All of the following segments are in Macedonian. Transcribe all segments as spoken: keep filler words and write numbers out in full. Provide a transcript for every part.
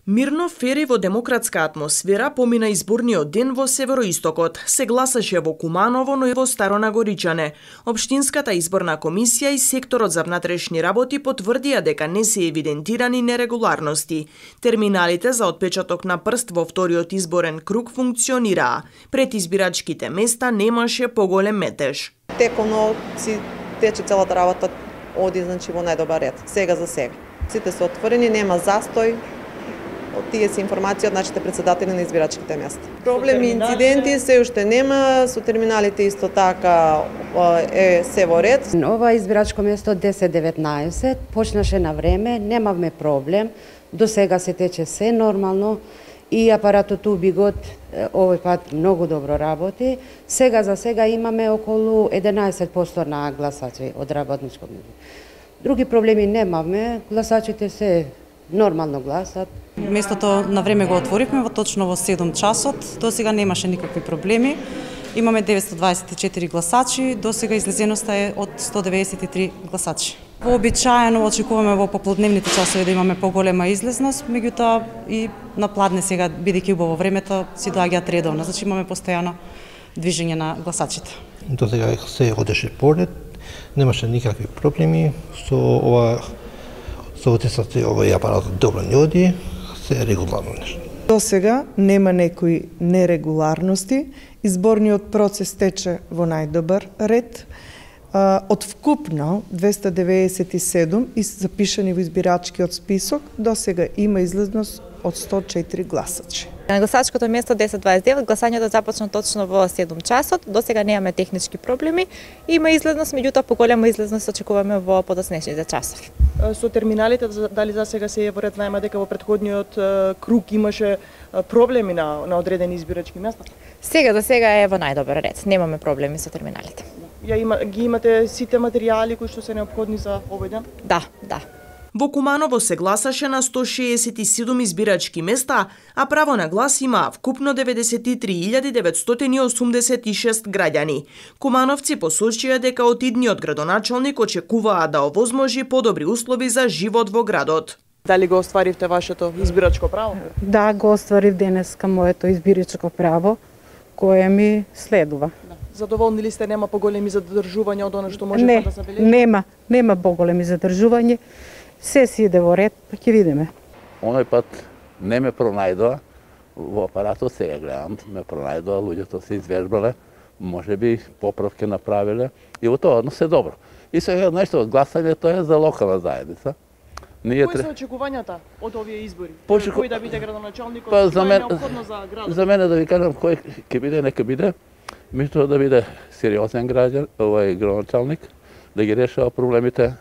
Мирно, фер и во демократска атмосфера помина изборниот ден во североистокот. Се гласаше во Куманово, но и во Старонагоричане. Општинската изборна комисија и секторот за внатрешни работи потврдија дека не се евидентирани нерегуларности. Терминалите за отпечаток на прст во вториот изборен круг функционираа. Пред избирачките места немаше поголем метеж. Теконо си тече целата работа, оди значи во најдобар ред, сега за сега. Сите се отворени, нема застој. Од тие се информации од нашите председатели на избирачките места. Проблеми, инциденти се уште нема, со терминалите исто така е се во ред. Ова избирачко место десет деветнаесет почнаше на време, немавме проблем. До сега се тече се нормално и апаратот убигот овој пат многу добро работи. Сега за сега имаме околу единаесет проценти на гласачи од работничко место. Други проблеми немавме, гласачите се нормално гласат. Местото на време го отворивме во точно во седум часот. До сега немаше никакви проблеми. Имаме деветстотини дваесет и четири гласачи, до сега излезеноста е од сто деветдесет и три гласачи. Вообичаено очекуваме во поплодневните часови да имаме поголема излезност, меѓутоа и на пладне сега, бидејќи убаво времето, си доаѓаат редовно, значи имаме постојано движење на гласачите. До сега се одеше поред, немаше никакви проблеми со ова со утисот овој апаратот добро не оди, се е регуларно нешто. До сега нема некои нерегуларности, изборниот процес тече во најдобар ред. Од вкупно двеста деветдесет и седум запишани во избирачкиот список, до сега има излезност од сто и четири гласачи. На гласачкото место десет дваесет и девет гласањето започна точно во седум часот. До сега немаме технички проблеми. Има излезност, меѓутоа поголема излезност очекуваме во подоцнешните часови. Со терминалите дали за сега се е во ред? Знаеме дека во претходниот круг имаше проблеми на на одредени избирачки места. Сега за сега е во најдобар ред. Немаме проблеми со терминалите. Ја има ги имате сите материјали кои што се неопходни за овој ден? Да, да. Во Куманово се гласаше на сто шеесет и седум избирачки места, а право на глас имаа вкупно деветдесет и три илјади деветстотини и осумдесет и шест граѓани. Кумановци посочија дека од идниот градоначалник очекуваа да овозможи подобри услови за живот во градот. Дали го остваривте вашето избирачко право? Да, го остварив денеска моето избирачко право, кое ми следува. Задоволни ли сте, нема поголеми задржувања од она што можете не, да забележите? Нема, нема поголеми задржувања. Се си иде во ред, па ќе видиме. Оној пат не ме пронајдоа во апаратот, сега гледам, ме пронајдоа, луѓето се извежбале, може би поправки направиле и во тоа однос е добро. И сега нешто од гласањето е за локална заедница. Ние Кои се очекувањата од овие избори? Почеку... Кој да биде градоначалникот? Па, за мен... Кој е неопходно за градот? За мене да ви кажам кој ќе биде, нека биде. Мислам да биде сериозен граѓан, овој градоначалник, да ги решава проблемите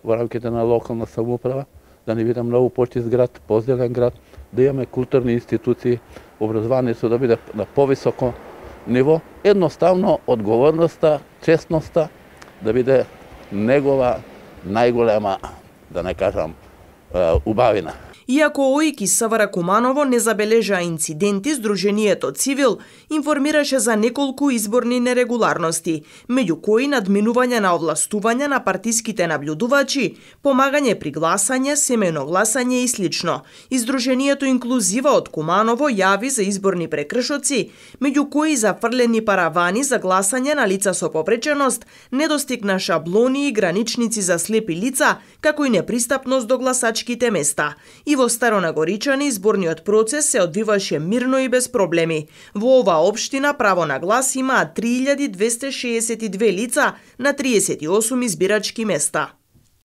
во рамките на локална самоуправа, да не биде многу почист град, позелен град, да имаме културни институции, образованието да биде на повисоко ниво. Едноставно одговорноста, честноста да биде негова најголема, да не кажам, убавина. Иако ОИК СВР Куманово не забележа инциденти, Сдруженијето Цивил информираше за неколку изборни нерегуларности, меѓу кои надминување на овластување на партиските наблюдувачи, помагање при гласање, семејно гласање и слично. Издруженијето Инклузива од Куманово јави за изборни прекршоци, меѓу кои зафрлени паравани за гласање на лица со попреченост, недостиг на шаблони и граничници за слепи лица, како и непристапност до гласачките места. И во Старонагоричани изборниот процес се одвиваше мирно и без проблеми. Во оваа општина право на глас имаа три илјади двесте шеесет и две лица на триесет и осум избирачки места.